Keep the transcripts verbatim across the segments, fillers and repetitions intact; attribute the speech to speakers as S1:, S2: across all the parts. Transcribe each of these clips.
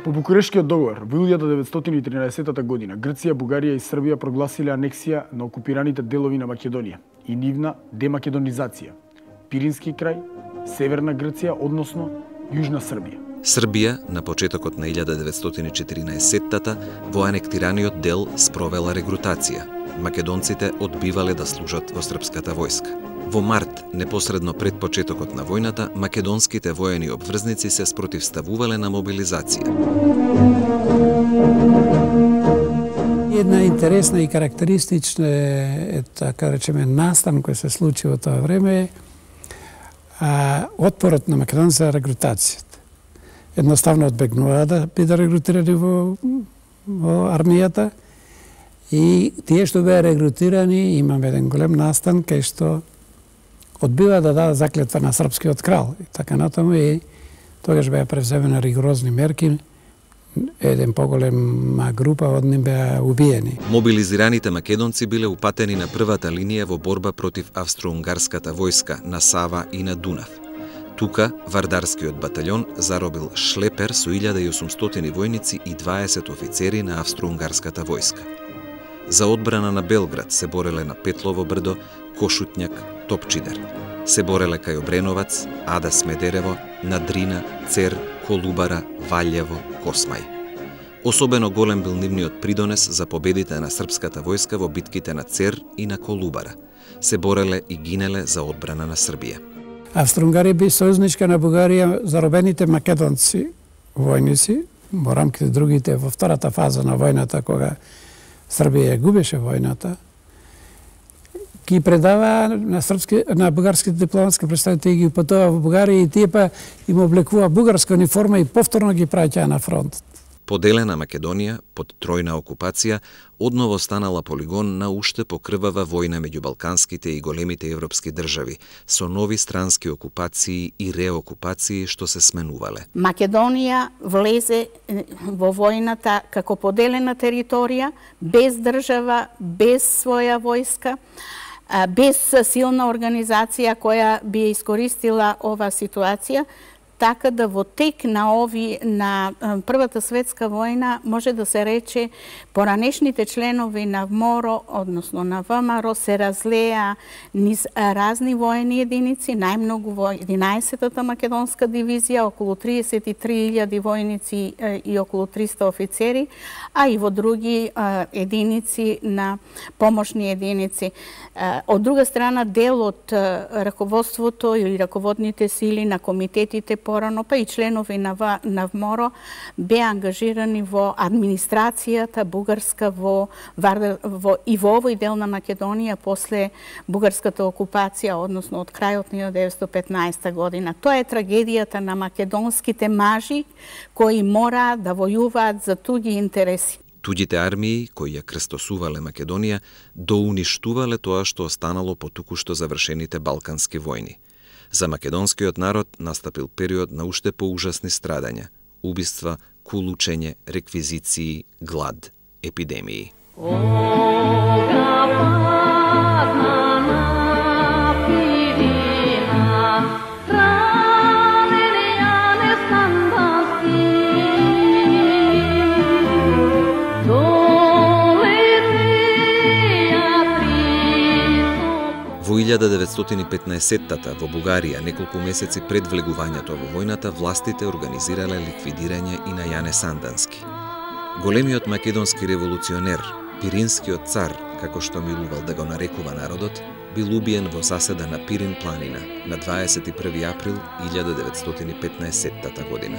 S1: По Букурешткиот договор во илјада деветстотини и тринаесеттата година Грција, Бугарија и Србија прогласиле анексија на окупираните делови на Македонија и нивна демакедонизација. Пирински крај, Северна Грција, односно Јужна Србија.
S2: Србија на почетокот на илјада деветстотини и четиринаесеттата во анектираниот дел спровела регрутација. Македонците одбивале да служат во српската војска. Во март, непосредно пред почетокот на војната, македонските воени обврзници се спротивставувале на мобилизација.
S3: Една интересна и карактеристична е, така речеме, настан кој се случи во тоа време а, отпорот на македонците за регрутацијата. Едноставно одбегнуваа да бидат регрутирани во, во армијата и тие што беа регрутирани, имаме еден голем настан кај што одбива да даде заклетва на српскиот крал и така натаму, и тогаш беа превземени ригорозни мерки. Еден поголема група од нив беа убиени.
S2: Мобилизираните македонци биле упатени на првата линија во борба против австро-унгарската војска на Сава и на Дунав. Тука Вардарскиот батальон заробил шлепер со илјада и осумстотини војници и дваесет офицери на австро-унгарската војска. За одбрана на Белград се бореле на Петлово брдо, Кошутњак, Топчидер. Се бореле кај Обреновац, Ада Смедерево, на Дрина, Цер, Колубара, Валјево, Космај. Особено голем бил нивниот придонес за победите на српската војска во битките на Цер и на Колубара. Се бореле и гинеле за одбрана на Србија.
S3: Австро-Унгарија би сојузничка на Бугарија, заробените македонци војници, во рамките другите во втората фаза на војната, кога Србија губеше војната, ги предава на српски, на бугарските дипломатски представители, ги упатува во Бугарија и тие па им облекува бугарска униформа и повторно ги праќаа на фронт.
S2: Поделена Македонија под тројна окупација одново станала полигон на уште покрвава војна меѓу балканските и големите европски држави, со нови странски окупации и реокупации што се сменувале.
S4: Македонија влезе во војната како поделена територија, без држава, без своја војска, без силна организација која би искористила ова ситуација, така да во тек на ови на Првата светска војна може да се рече поранешните членови на ВМОРО, односно на ВМРО, се разлеа низ разни војни единици, најмногу во единаесеттата македонска дивизија, околу триесет и три илјади војници и околу триста офицери, а и во други единици на помошни единици. Од друга страна, дел од раководството или раководните сили на комитетите порано, па и членови на, на ВМОРО беа ангажирани во администрацијата бугарска во, во, и во овој дел на Македонија после бугарската окупација, односно од крајот на илјада деветстотини и петнаесета година. Тоа е трагедијата на македонските мажи кои мора да војуваат за туѓи интереси.
S2: Туѓите армии, кои ја крстосувале Македонија, доуништувале тоа што останало по токушто завршените балкански војни. За македонскиот народ настапил период на уште поужасни страдања, убиства, кулучење, реквизиции, глад, епидемии. Во илјада деветстотини и петнаесеттата во Бугарија, неколку месеци пред влегувањето во војната, властите организирале ликвидирање и на Јане Сандански. Големиот македонски револуционер, Пиринскиот цар, како што милувал да го нарекува народот, бил убиен во заседа на Пирин планина на дваесет и први април илјада деветстотини и петнаесеттата година.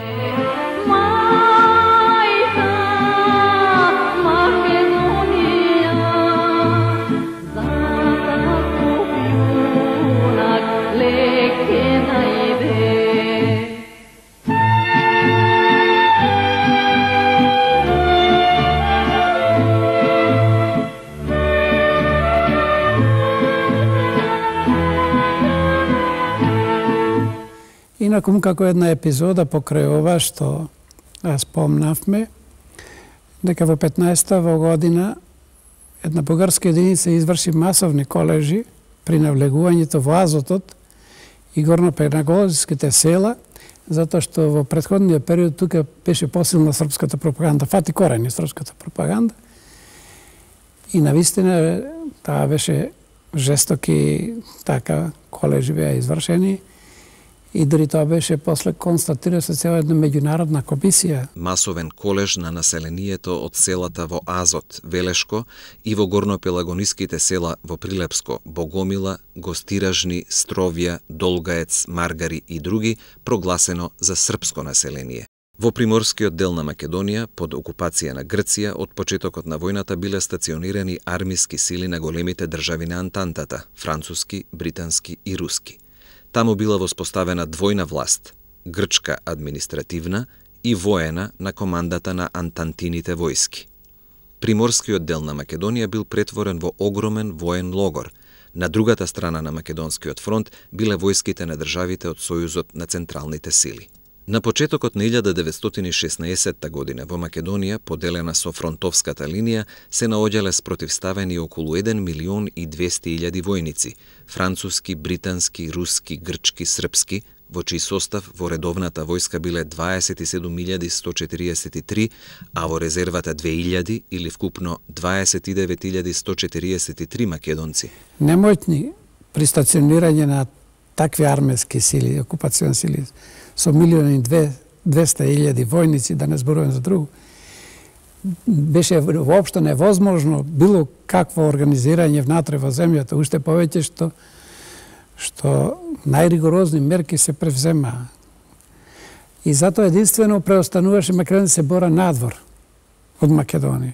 S3: Инакум, како една епизода покрај ова што спомнавме, дека во петнаесетта година една бугарска единица изврши масовни колежи при навлегувањето во Азотот и горно-пенагозиските села, затоа што во претходниот период тука беше посилна српската пропаганда, фати корени српската пропаганда. И навистина таа беше жестоки така колежи беа извршени и дори тоа беше после констатира со цела една меѓународна комисија.
S2: Масовен колеж на населението од селата во Азот, Велешко и во горнопелагониските села во Прилепско, Богомила, Гостиражни, Стровја, Долгаец, Маргари и други прогласено за српско население. Во приморскиот дел на Македонија, под окупација на Грција, од почетокот на војната биле стационирани армиски сили на големите држави на Антантата, француски, британски и руски. Таму била воспоставена двојна власт, грчка административна и воена на командата на антантините војски. Приморскиот дел на Македонија бил претворен во огромен воен логор. На другата страна на Македонскиот фронт биле војските на државите од Сојузот на централните сили. На почетокот на илјада деветстотини и шеснаесетта година во Македонија, поделена со фронтовската линија, се наоѓале спротивставени околу еден милион и двесте илјади војници, француски, британски, руски, грчки, српски, во чиј состав во редовната војска биле дваесет и седум илјади сто четириесет и три, а во резервата две илјади или вкупно дваесет и девет илјади сто четириесет и три македонци.
S3: Немојтни при стационирање на такви армиски сили, окупациони сили, со милион и двесте илјади војници, да не зборувам за друго, беше воопшто невозможно било какво организирање внатре во земјата, уште повеќе што што најригорозни мерки се превземаа. И затоа единствено преостануваше Македонија се бора надвор од Македонија.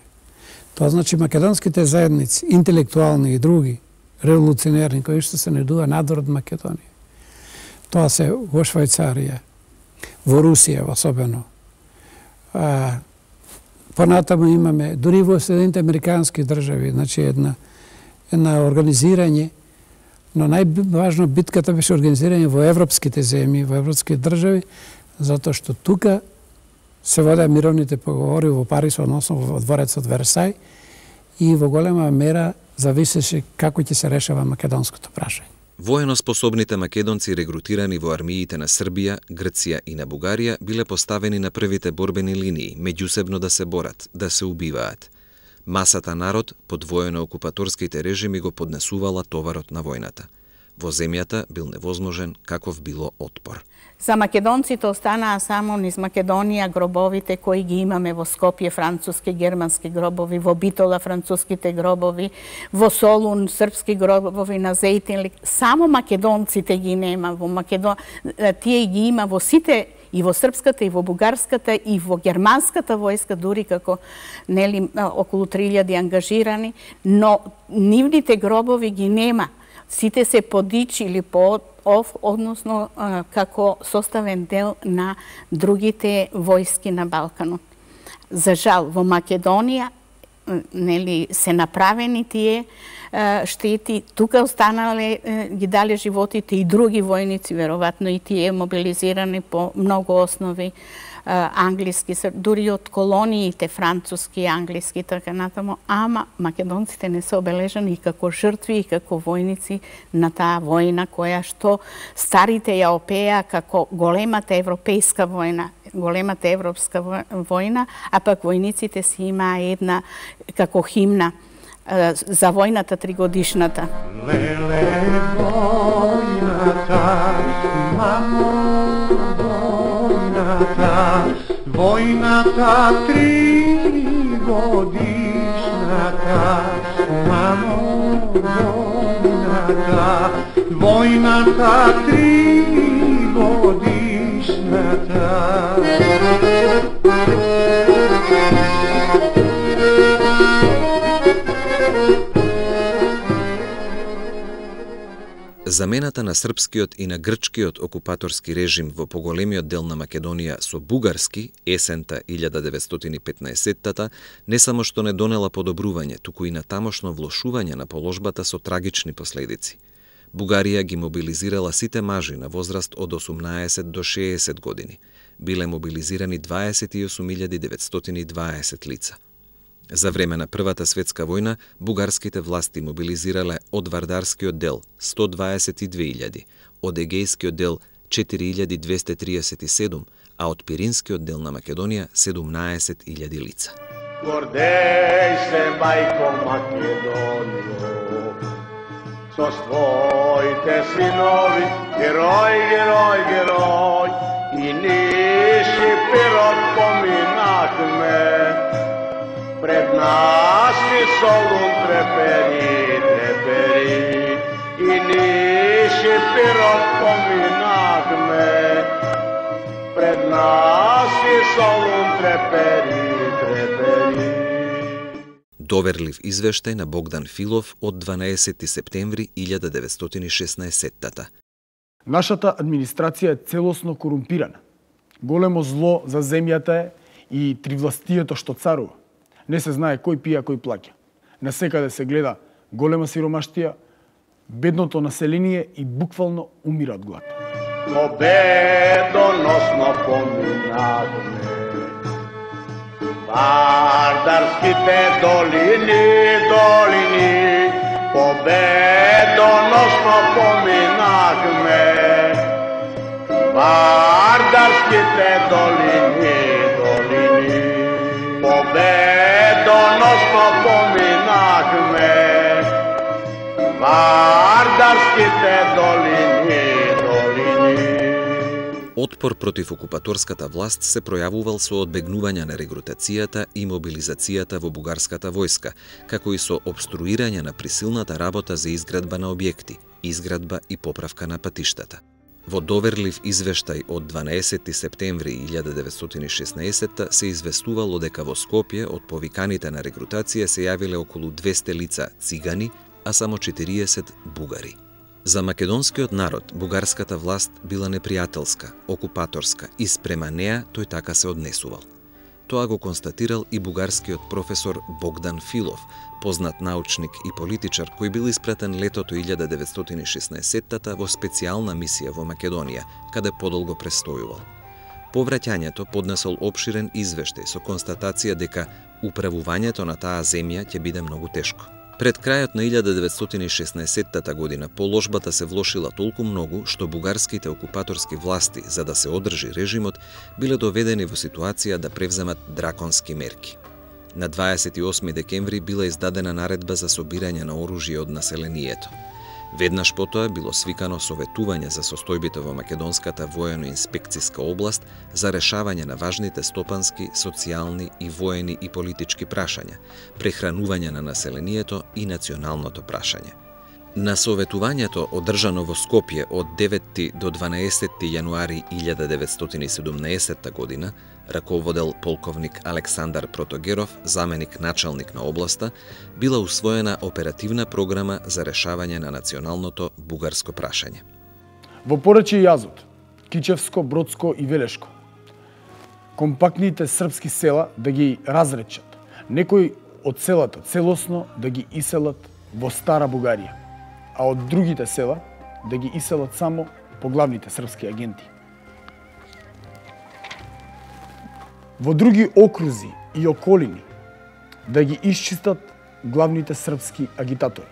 S3: Тоа значи македонските заедници, интелектуални и други, револуционерни, кои што се најдува надвор од Македонија. Тоа се во Швајцарија, во Русија особено. А, понатаму имаме, дури во Соединените Американски држави, значи една, една организирање, но најважно битката беше организирање во европските земји, во европските држави, затоа што тука се водеа мировните поговори во Париз, односно во дворецот Версај, и во голема мера зависеше како ќе се решава македонското прашање.
S2: Военоспособните македонци регрутирани во армиите на Србија, Грција и на Бугарија биле поставени на првите борбени линии, меѓусебно да се борат, да се убиваат. Масата народ под воено-окупаторските режими го поднесувала товарот на војната. Во земјата бил невозможен каков било отпор.
S4: За македонците останаа само низ Македонија гробовите кои ги имаме во Скопје, француски, германски гробови, во Битола француските гробови, во Солун српски гробови, на Зејтин. Само македонците ги нема во Македон... тие ги има во сите, и во српската, и во бугарската, и во германската војска, дури како нели околу три илјади ангажирани, но нивните гробови ги нема. Сите се подичили по ов, односно како составен дел на другите војски на Балканот. За жал, во Македонија нели се направени тие штети, тука останале, ги дале животите и други војници, веројатно и тие мобилизирани по многу основи, англиски, дури од колониите француски, англиски, така натаму, ама македонците не се обележани и како жртви и како војници на таа војна која што старите ја опеа како големата европејска војна, големата европска војна, а пак војниците си имаа една како химна за војната тригодишната.
S5: Леле војната, мамо, војната, војната тригодишната, мамо, војната, војната тригодишната.
S2: Замената на српскиот и на грчкиот окупаторски режим во поголемиот дел на Македонија со бугарски есента илјада деветстотини и петнаесеттата не само што не донела подобрување, туку и на тамошно влошување на положбата со трагични последици. Бугарија ги мобилизирала сите мажи на возраст од осумнаесет до шеесет години. Биле мобилизирани дваесет и осум илјади деветстотини и дваесет лица. За време на Првата светска војна, бугарските власти мобилизирале од Вардарскиот дел сто дваесет и две илјади, од Егејскиот дел четири илјади двесте триесет и седум, а од Пиринскиот дел на Македонија седумнаесет илјади лица.
S5: Гордеј се, мајко Македонијо, со своите синови, герој, герој, герој, и ние Шиперот поминахме, пред нас и Солун трепери, трепери, и ние Шиперот поминахме, пред нас и Солун трепери, трепери.
S2: Доверлив извештај на Богдан Филов од дванаесети септември илјада деветстотини и шеснаесеттата.
S1: Нашата администрација е целосно корумпирана. Големо зло за земјата е и тривластието што царува. Не се знае кој пија, кој плаќа. Насекаде се гледа голема сиромаштија, бедното население и буквално умира од глад.
S5: Победоносно поминавме Вардарските долини, долини, победоносно поминавме Вардарските долини, долини, победоносно поминавме Вардарските долини, долини.
S2: Отпор против окупаторската власт се пројавувал со одбегнување на регрутацијата и мобилизацијата во бугарската војска, како и со обструирање на присилната работа за изградба на објекти, изградба и поправка на патиштата. Во доверлив извештај од дванаесети септември илјада деветстотини и шеснаесетта се известувало дека во Скопје од повиканите на регрутација се јавиле околу двесте лица цигани, а само четириесет бугари. За македонскиот народ бугарската власт била непријателска, окупаторска и спрема неа тој така се однесувал. Тоа го констатирал и бугарскиот професор Богдан Филов, познат научник и политичар кој бил испратен летото илјада деветстотини и шеснаесеттата во специјална мисија во Македонија, каде подолго престојувал. По враќањето поднесол опширен извештај со констатација дека управувањето на таа земја ќе биде многу тешко. Пред крајот на илјада деветстотини и шеснаесеттата година положбата се влошила толку многу што бугарските окупаторски власти, за да се одржи режимот, биле доведени во ситуација да превземат драконски мерки. На дваесет и осми декември била издадена наредба за собирање на оружје од населението. Веднаш потоа било свикано советување за состојбите во македонската воено-инспекцијска област за решавање на важните стопански, социјални и воени и политички прашања, прехранување на населението и националното прашање. На советувањето одржано во Скопје од деветти до дванаесетти јануари илјада деветстотини и седумнаесетта година, раководел полковник Александар Протогеров, заменик началник на областа, била усвоена оперативна програма за решавање на националното бугарско прашање.
S1: Во Порече и Јазот, Кичевско, Бродско и Велешко, компактните српски села да ги разречат, некои од селата целосно да ги иселат во Стара Бугарија, а од другите села да ги иселат само по главните српски агенти. Во други окрузи и околини да ги исчистат главните српски агитатори.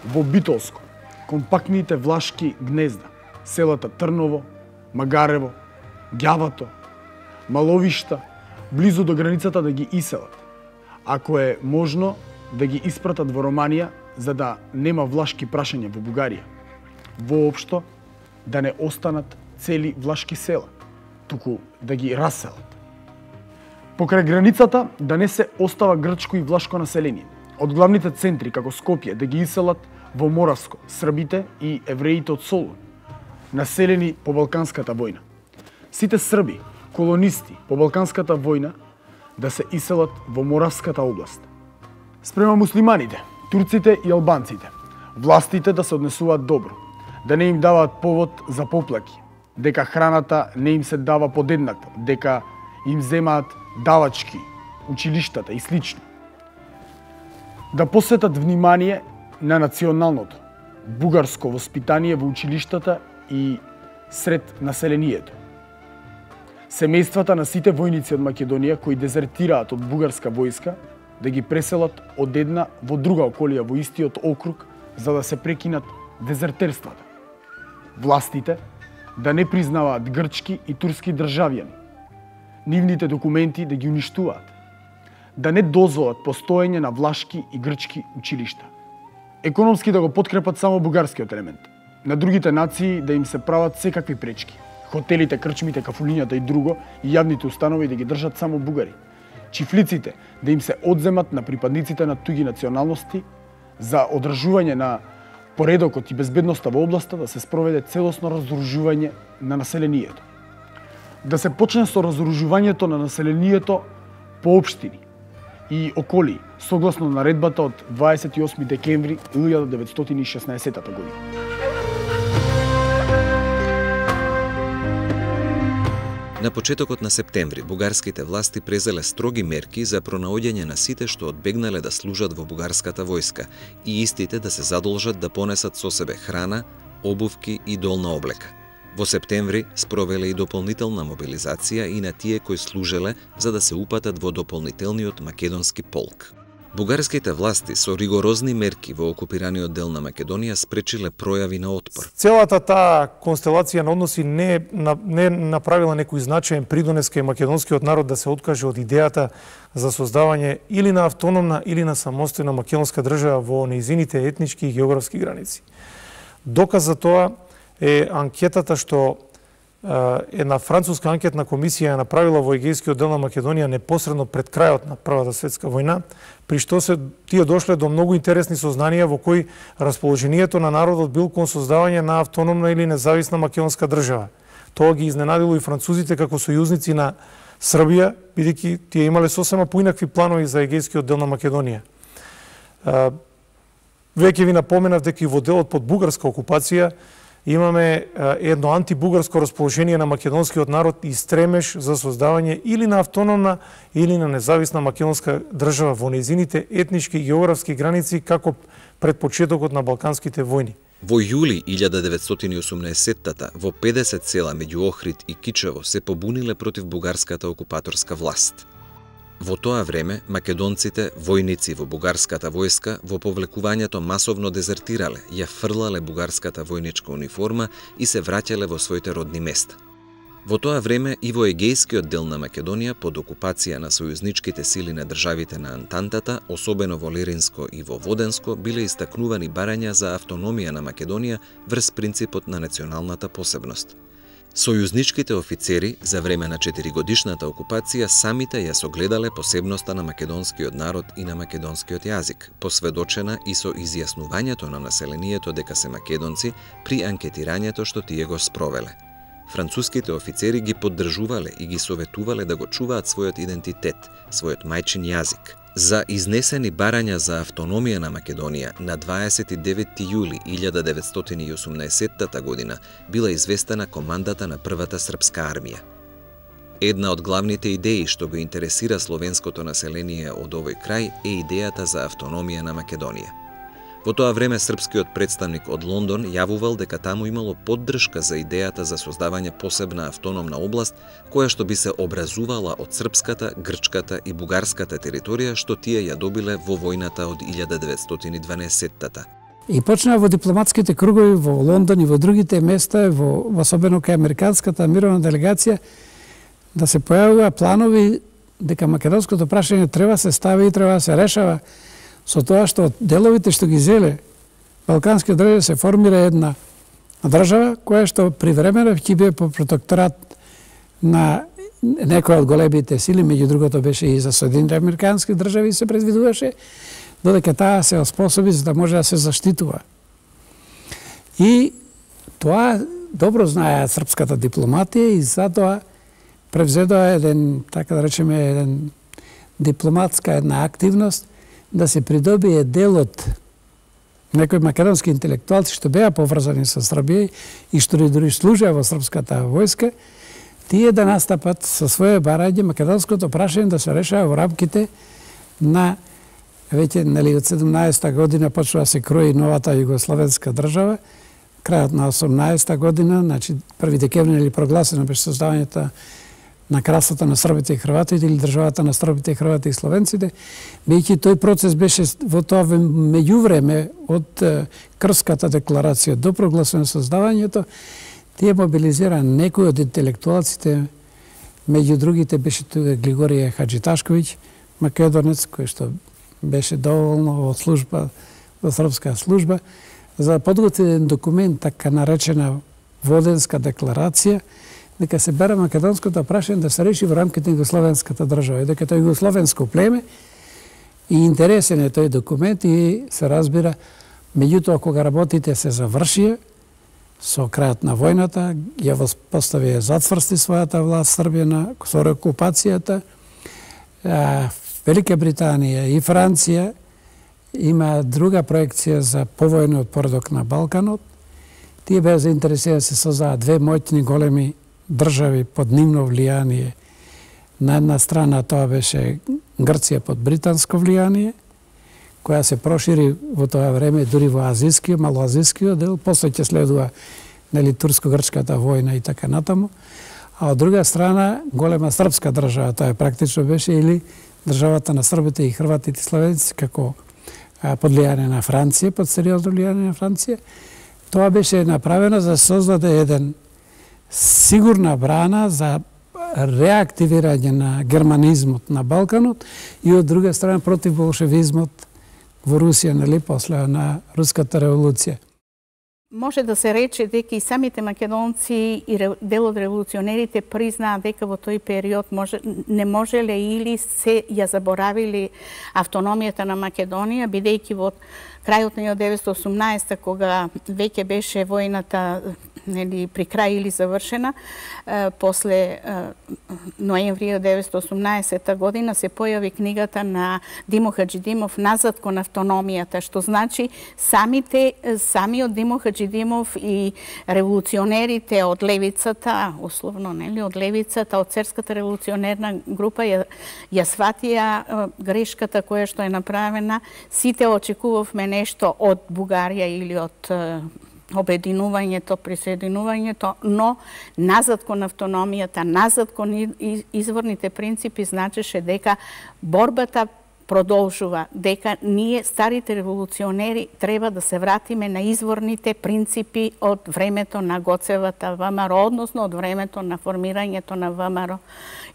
S1: Во Битолско, компактните влашки гнезда, селата Трново, Магарево, Ѓавато, Маловишта, близу до границата да ги иселат. Ако е можно, да ги испратат во Романија, за да нема влашки прашања во Бугарија. Воопшто, да не останат цели влашки села, туку да ги раселат. Покрај границата да не се остава грчко и влашко население. Од главните центри, како Скопје, да ги иселат во Моравско, србите и евреите од Солун, населени по Балканската војна. Сите срби, колонисти по Балканската војна, да се иселат во Моравската област. Спрема муслиманите, турците и албанците, властите да се однесуваат добро, да не им даваат повод за поплаки, дека храната не им се дава подеднакво, дека им земаат давачки, училиштата и слично. Да посветат внимание на националното, бугарско воспитание во училиштата и сред населението. Семејствата на сите војници од Македонија кои дезертираат од бугарска војска да ги преселат од една во друга околија во истиот округ за да се прекинат дезертерствата. Властите да не признаваат грчки и турски државјани, нивните документи да ги уништуваат, да не дозволат постоење на влашки и грчки училишта, економски да го подкрепат само бугарскиот елемент, на другите нации да им се прават секакви пречки, хотелите, крчмите, кафулињата и друго и јавните установи да ги држат само бугари, чифлиците да им се одземат на припадниците на туги националности, за одржување на поредокот и безбедноста во областа да се спроведе целосно разоружување на населението. Да се почне со разоружувањето на населението по општини и околии, согласно наредбата од дваесет и осми декември илјада деветстотини и шеснаесетта година.
S2: На почетокот на септември, бугарските власти презеле строги мерки за пронаоѓање на сите што одбегнале да служат во бугарската војска и истите да се задолжат да понесат со себе храна, обувки и долна облека. Во септември спровеле и дополнителна мобилизација и на тие кои служеле за да се упатат во дополнителниот македонски полк. Бугарските власти со ригорозни мерки во окупираниот дел на Македонија спречиле пројави на отпор.
S6: Целата таа констелација на односи не, не направила некој значаен придонес кај македонскиот народ да се откаже од идејата за создавање или на автономна или на самостојна македонска држава во нејзините етнички и географски граници. Доказ за тоа е анкетата што една француска анкетна комисија ја направила во Егејскиот дел на Македонија непосредно пред крајот на Првата светска војна, при што се тие дошле до многу интересни сознанија во кои расположението на народот бил кон создавање на автономна или независна македонска држава. Тоа ги изненадило и французите како сојузници на Србија, бидејќи тие имале сосема поинакви планови за Егејскиот дел на Македонија. Веќе ви напоменав дека и во делот под бугарска окупација имаме едно антибугарско расположение на македонскиот народ и стремеж за создавање или на автономна или на независна македонска држава во нејзините етнички и географски граници како пред почетокот на Балканските војни.
S2: Во јули илјада деветстотини и осумнаесетта во педесет села меѓу Охрид и Кичево се побуниле против бугарската окупаторска власт. Во тоа време, македонците, војници во бугарската војска, во повлекувањето масовно дезертирале, ја фрлале бугарската војничка униформа и се враќале во своите родни места. Во тоа време и во Егејскиот дел на Македонија, под окупација на сојузничките сили на државите на Антантата, особено во Леринско и во Воденско, биле истакнувани барања за автономија на Македонија врз принципот на националната посебност. Сојузничките офицери за време на четиригодишната окупација самите ја согледале посебноста на македонскиот народ и на македонскиот јазик, посведочена и со изјаснувањето на населението дека се македонци при анкетирањето што тие го спровеле. Француските офицери ги поддржувале и ги советувале да го чуваат својот идентитет, својот мајчин јазик. За изнесени барања за автономија на Македонија на дваесет и деветти јули илјада деветстотини и осумнаесетта година била известена командата на првата српска армија. Една од главните идеи што го интересира словенското население од овој крај е идејата за автономија на Македонија. Во тоа време српскиот представник од Лондон јавувал дека таму имало поддршка за идејата за создавање посебна автономна област која што би се образувала од српската, грчката и бугарската територија што тие ја добиле во војната од илјада деветстотини и дванаесетта.
S3: И почнаа во дипломатските кругови во Лондон и во другите места, во особено кај американската мировна делегација, да се појавува планови дека македонското прашање треба се стави и треба се решава со тоа што деловите што ги зеле балкански држави се формира една држава која што привремено ќе биде по протекторат на некоја од големите сили, меѓу другото беше и за Соединените американски држави се предвидуваше, додека таа се оспособи за да може да се заштитува. И тоа добро знаеа српската дипломатија и затоа превзедоа еден, така да речеме, еден дипломатска една активност да се придобие дел од некои македонски интелектуалци што беа поврзани со Србија и што дури служеа во српската војска, тие да настапат со своје барање македонското прашање да се решава во рамките на веќе нели од седумнаесетта година почнува да се крои новата југословенска држава, крајот на осумнаесетта година, значи први декември нели прогласено беше создавањето на кралството на србите и хрватите или државата на србите и хрватите и словенците, бидејќи тој процес беше во тоа меѓувреме од Крската декларација до прогласено создавањето, Тие мобилизира некои од интелектуалците, меѓу другите беше тука Глигорije Хаджиташковиќ, македонец, кој што беше доволно во служба, во српска служба, за да подготви еден документ, така наречена Воденска декларација, дека се бере македонското прашање да се реши во рамките на југословенската држава, и дека тоа е југословенско племе, и интересен е тој документ и се разбира, меѓутоа кога работите се завршија, со крајот на војната, ја поставија затврсти својата власт Србија на со окупацијата. Велика Британија и Франција има друга проекција за повојниот поредок на Балканот. Тие беа заинтересирани да се создадат две моќни големи држави под нивно влијание. На една страна тоа беше Грција под британско влијание, која се прошири во тоа време дури во азискиот, малоазискиот дел, после ќе следува нели турско-грчката војна и така натаму. А од друга страна голема српска држава, тоа практично беше или државата на србите и хрватите и славенци како под влијание на Франција, под сериозно влијание на Франција. Тоа беше направено за да создаде еден сигурна брана за реактивирање на германизмот на Балканот и од друга страна против болшевизмот во Русија, нели, после на Руската револуција.
S4: Може да се рече дека и самите македонци и дел од револуционерите признаат дека во тој период може, не можеле или се ја заборавили автономијата на Македонија, бидејќи во крајот на илјадесетстотини деветстотини и осумнаесета, кога веќе беше војната нели, при крај или завршена, е, после е, ноември илјадесетстотини деветстотини и осумнаесета година се појави книгата на Димо Хаджидимов "Назад кон автономијата", што значи самите, самиот Димо Хаджидимов и револуционерите од левицата, условно, нели, од левицата, од церската револуционерна група ја, ја сватија грешката која што е направена. Сите очекувавме нешто од Бугарија или од обединувањето, присоединувањето, но назад кон автономијата, назад кон изворните принципи значеше дека борбата продолжува, дека ние, старите револуционери, треба да се вратиме на изворните принципи од времето на Гоцевата ВМРО, односно од времето на формирањето на ВМРО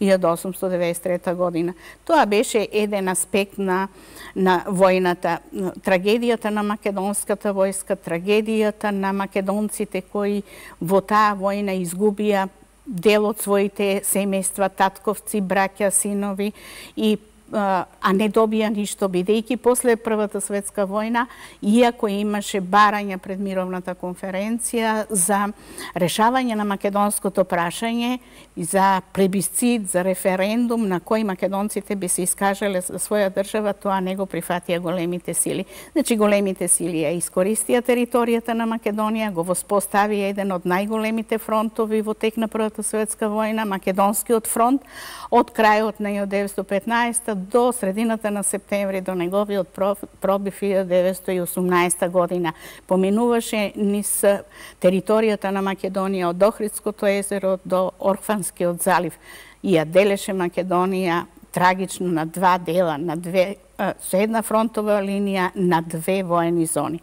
S4: илјада осумстотини деветдесет и трета година. Тоа беше еден аспект на, на војната. Трагедијата на македонската војска, трагедијата на македонците кои во таа војна изгубија дел од своите семејства, татковци, браќа, синови и а не добија ништо, бидејќи после Првата светска војна, иако имаше барања пред мировната конференција за решавање на македонското прашање, за плебисцит, за референдум на кој македонците би се искажале за своја држава, тоа не го прифатија големите сили. Значи, големите сили ја искористија територијата на Македонија, го воспоставија еден од најголемите фронтови во тек на Првата светска војна, Македонскиот фронт, од крајот на илјада деветстотини и петнаесета до средината на септември, до неговиот пробив илјада деветстотини и осумнаесета година. Поминуваше низ територијата на Македонија од Охридското езеро до Орфанскиот залив и ја делеше Македонија трагично на два дела, на две, со една фронтова линија на две воени зони.